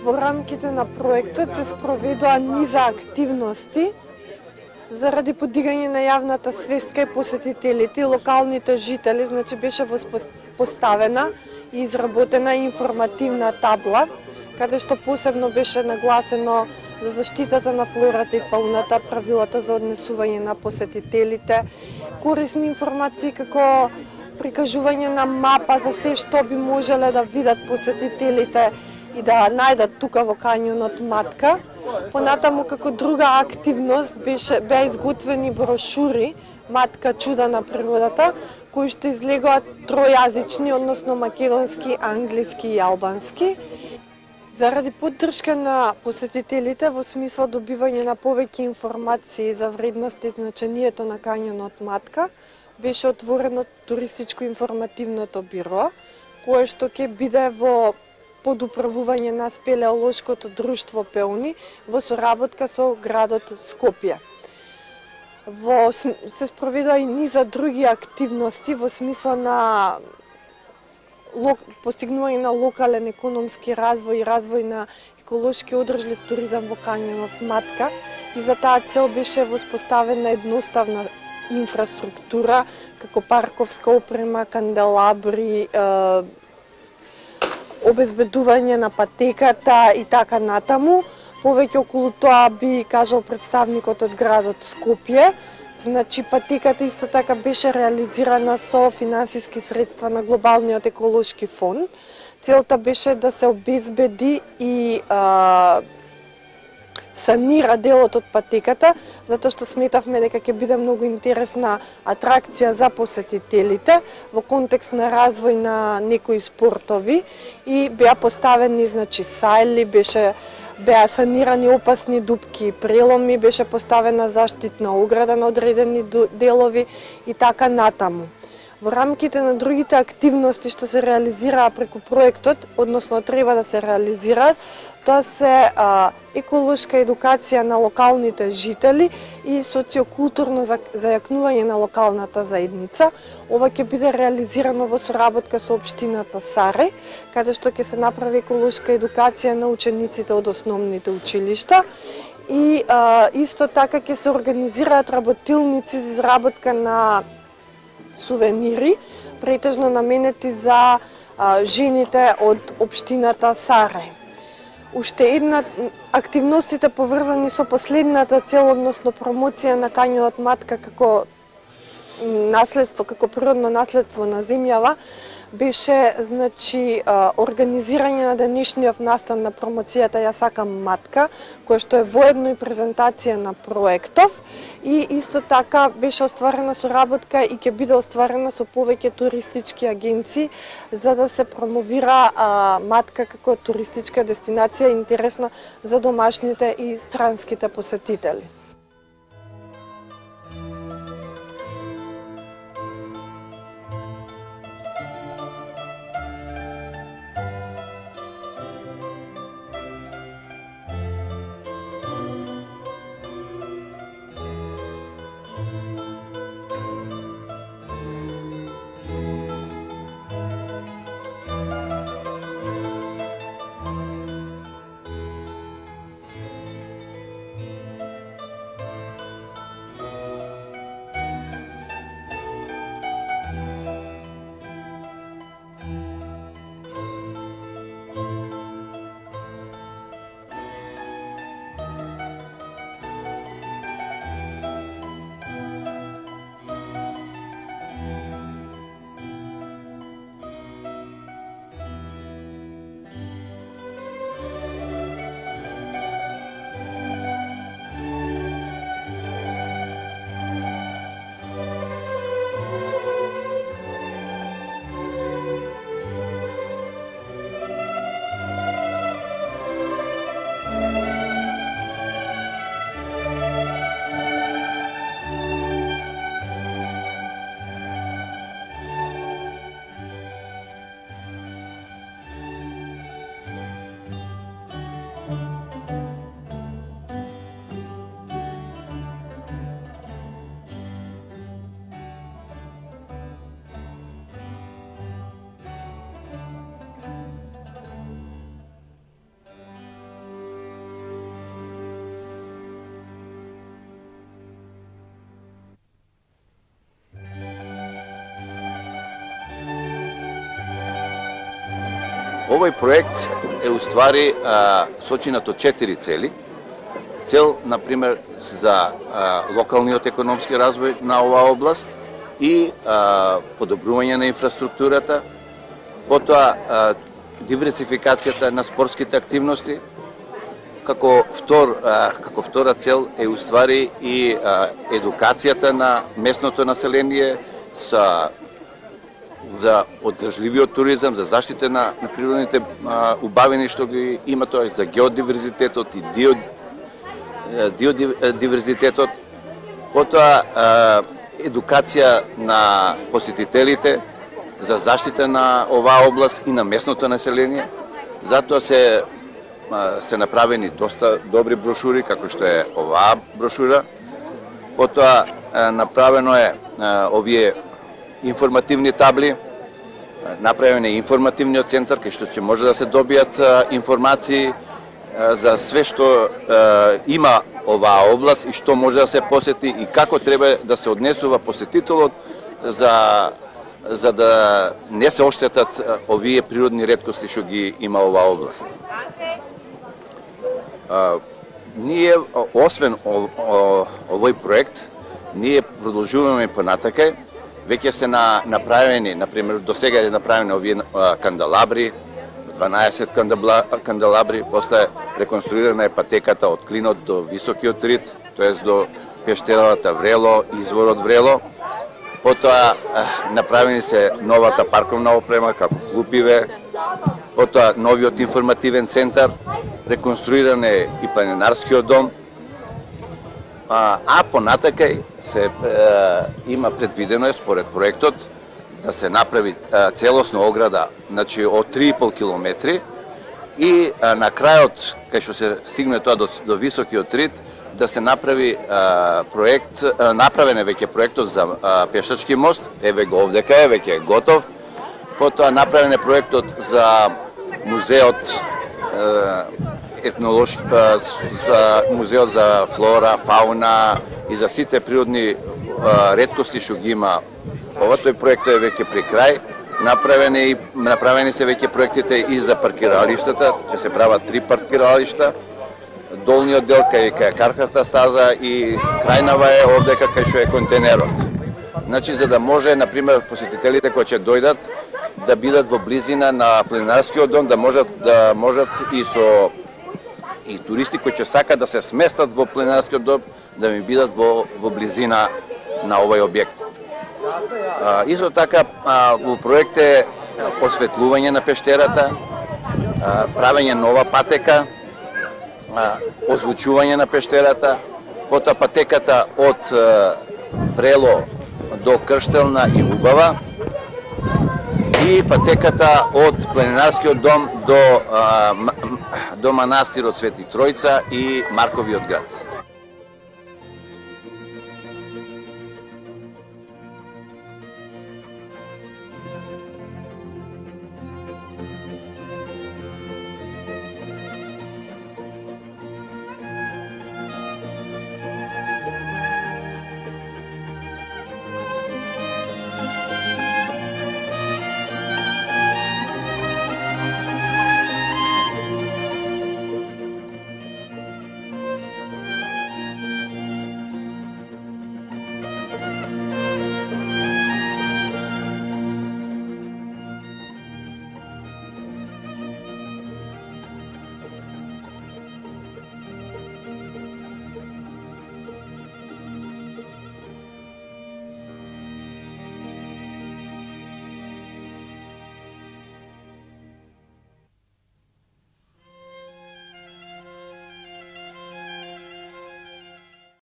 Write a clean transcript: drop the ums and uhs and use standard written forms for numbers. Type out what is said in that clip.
Во рамките на проектот се спроведоа низа активности заради подигање на јавната свест кај посетителите и локалните жители, значи беше поставена и изработена информативна табла, каде што посебно беше нагласено за заштитата на флората и фауната, правилата за однесување на посетителите, корисни информации како прикажување на мапа за се што би можеле да видат посетителите и да најдат тука во кањонот Матка. Понатаму како друга активност беа изготвени брошури Матка чуда на природата, кои што излегоа тројазични, односно македонски, англиски и албански. Заради поддршка на посетителите во смисла добивање на повеќе информации за вредности и значењето на кањонот Матка, беше отворено туристичко информативното биро, кое што ќе биде во подуправување на спелеолошкото друштво Пеуни во соработка со градот Скопје. Се спроведоа и низа други активности во смисла на постигнување на локален економски развој и развој на еколошки одржлив туризам во кањонот Матка, и за таа цел беше воспоставена едноставна инфраструктура како парковска опрема, канделабри, обезбедување на патеката и така натаму. Повеќе околу тоа би кажал представникот од градот Скопје. Значи патеката исто така беше реализирана со финансиски средства на Глобалниот еколошки фонд. Целта беше да се обезбеди и санира делот од патеката, затоа што сметавме дека ќе биде многу интересна атракција за посетителите во контекст на развој на некои спортови, и беа поставени сајли, беа санирани опасни дупки и преломи, беше поставена заштитна ограда на одредени делови и така натаму. Во рамките на другите активности што се реализираа преку проектот, односно треба да се реализираат, тоа се еколошка едукација на локалните жители и социокултурно зајакнување на локалната заедница. Ова ќе биде реализирано во соработка со општината Сарај, каде што ќе се направи еколошка едукација на учениците од основните училишта, и исто така ќе се организираат работилници за изработка на сувенири, претежно наменети за жените од општината Сарај. Уште една активностите поврзани со последната цел, односно промоција на кањонот Матка како наследство, како природно наследство на земјава, беше организирање на денешниот настан на промоцијата Ја сакам Матка, која што е воедно и презентација на проектов, и исто така беше остварена соработка и ќе биде остварена со повеќе туристички агенции за да се промовира Матка како туристичка дестинација интересна за домашните и странските посетители. Овој проект е уствари сочинат од 4 цели. Цел, например, за локалниот економски развој на оваа област и подобрување на инфраструктурата, потоа диверсификацијата на спортските активности, како втора цел е уствари и едукацијата на местното население за одржливиот туризам, за заштита на природните убавини што ги има тоа, за геодиверзитетот и диверзитетот, потоа едукација на посетителите за заштита на оваа област и на местното население. Затоа се направени доста добри брошури, како што е оваа брошура. Потоа направено е овие информативни табли, направен е информативниот центар, кај што ќе може да се добијат информации за све што има оваа област и што може да се посети и како треба да се однесува посетителот за да не се оштетат овие природни реткости што ги има оваа област. Ние, освен овој проект, ние продолжуваме понатака. Веќе се направени, например, до сега е направени овие канделабри, 12 канделабри, после реконструирана е патеката од клинот до високиот рид, тоест до пештерата Врело и изворот Врело. Потоа направени се новата парковна опрема, како клупиве, потоа новиот информативен центар, реконструиран е и планинарскиот дом, а понатакај има предвидено е според проектот да се направи целосна ограда, значи од 3,5 километри и на крајот, кај што се стигне тоа до високиот рид, да се направи проект, направен е веќе проектот за пешачки мост, еве го овдека е, веќе е готов. Потоа направен е проектот за музеот етнолошки, за музеот за флора, фауна и за сите природни реткости што ги има. Тој проект е веќе при крај. Направени се веќе проектите и за паркиралиштата, ќе се прават 3 паркиралишта. Долниот дел кај карката стаза и крајнава е овдека кај што е контейнерот. Значи, за да може, например, посетителите кои ќе дојдат да бидат во близина на планинарскиот дом, да можат и туристи кои ќе сакат да се сместат во планинарскиот дом, да ми бидат во близина на овој објект. Исто така, во проект е осветлување на пештерата, правење нова патека, озвучување на пештерата, потоа патеката од Врело до Крштелна и Убава и патеката од планинарскиот дом до манастирот Свети Тројца и Марковиот град.